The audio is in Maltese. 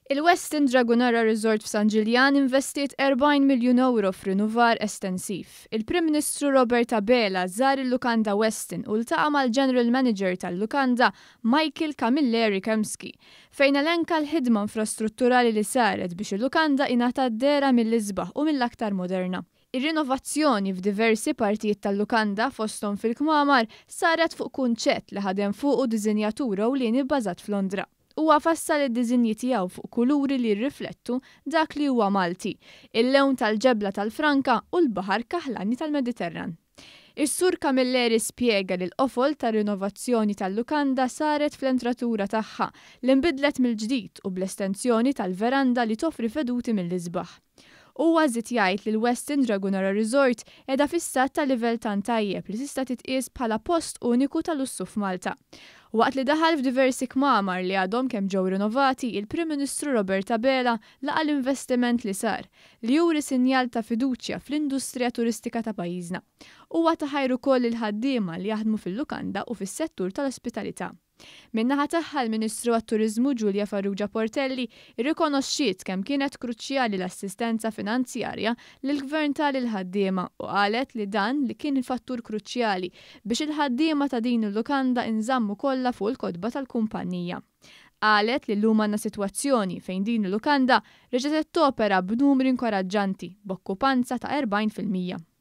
Il-Westin Dragonara Resort f'San Ġiljan investiet 40 miljun ewro f'rinnovar estensiv. Il-Prim Ministru Robert Abela żar il-lukanda Westin u ltaqa' mal-General Manager tal-lukanda Michael Camilleri Kemski, fejn elenka l-ħidma infrastrutturali li saret biex il-lukanda ingħatat dehra mill-isbaħ u mill-aktar moderna. Ir-rinovazzjoni f'diversi partijiet tal-lukanda, fosthom fil-kmamar, saret fuq kunċett li ħadem fuqu diżinjatur ewlieni bbażat f'Londra. Huwa fassal id-diżinji tiegħu fuq kuluri li jirriflettu dak li huwa Malti, il-lewn tal-ġebla tal-franka u l-baħar kaħlani tal-Mediterran. Is-Sur Camilleri spjega li l-qofol tar-rinovazzjoni tal-lukanda saret fl-entratura tagħha li nbidlet mill-ġdid u bl-estensjoni tal-veranda li toffri veduti mill-isbaħ. Huwa żied jgħid li l-Westin Dragonara Resort qiegħda fi stat ta' livell tant tajjeb li tista' titqies bħala post uniku ta' lussu f'Malta. Waqt li daħal f'diversi kmamar li għadhom kemm ġew rinnovati, il-Prim Ministru Robert Abela laqa' l-investiment li sar, li juri sinjal ta' fiduċja fl-industrija turistika ta' pajjiżna. Huwa ta ħajr ukoll lill-ħaddiema li jaħdmu fil-lukanda u fis-settur tal-ospitalità. Min-naħa tagħha l-Ministru għat-Turiżmu Julia Farrugia Portelli rrikonoxxiet kemm kienet kruċjali l-assistenza finanzjarja li l-Gvern ta lill-ħaddiema u qalet li dan li kien fattur kruċjali biex il-ħaddiema ta' din il-lukanda inżammu kollha fuq il-kotba tal-kumpanija. Qalet li llum għandna sitwazzjoni fejn din il-lukanda reġgħet qed topera b'numri inkoraġġanti b'okkupanza ta' 40%.